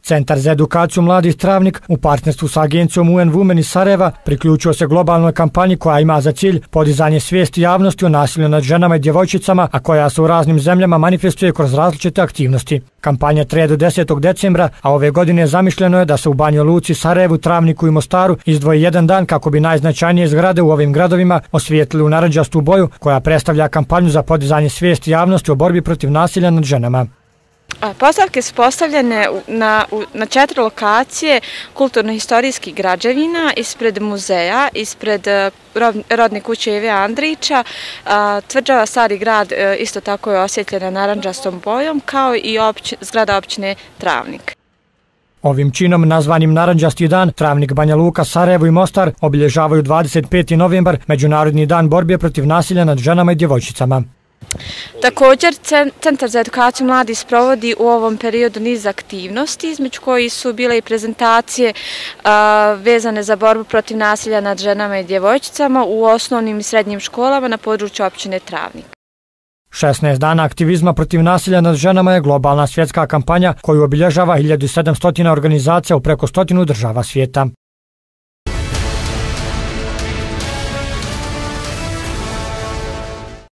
Centar za edukaciju mladih Travnik u partnerstvu sa agencijom UN Women iz Sarajeva priključio se globalnoj kampanji koja ima za cilj podizanje svijesti javnosti o nasilju nad ženama i djevojčicama, a koja se u raznim zemljama manifestuje kroz različite aktivnosti. Kampanja traje do 10. decembra, a ove godine zamišljeno je da se u Banji Luci, Sarajevu, Travniku i Mostaru izdvoji jedan dan kako bi najznačajnije zgrade u ovim gradovima osvijetlili u narandžastu boju koja predstavlja kampanju za podizanje svijesti javnosti o borbi protiv nasilja nad ženama. Postavke su postavljene na 4 lokacije kulturno-historijskih građevina, ispred muzeja, ispred rodne kuće Ive Andrića, tvrđava Stari grad isto tako je osvjetljena narandžastom bojom, kao i zgrada općine Travnik. Ovim činom, nazvanim Narandžasti dan, Travnik, Banja Luka, Sarajevo i Mostar obilježavaju 25. novembar, Međunarodni dan borbe protiv nasilja nad ženama i djevojčicama. Također, Centar za edukaciju mladih sprovodi u ovom periodu niz aktivnosti, između kojih su bile i prezentacije vezane za borbu protiv nasilja nad ženama i djevojčicama u osnovnim i srednjim školama na području općine Travnik. 16 dana aktivizma protiv nasilja nad ženama je globalna svjetska kampanja koju obilježava 1700 organizacija u preko 100 država svijeta.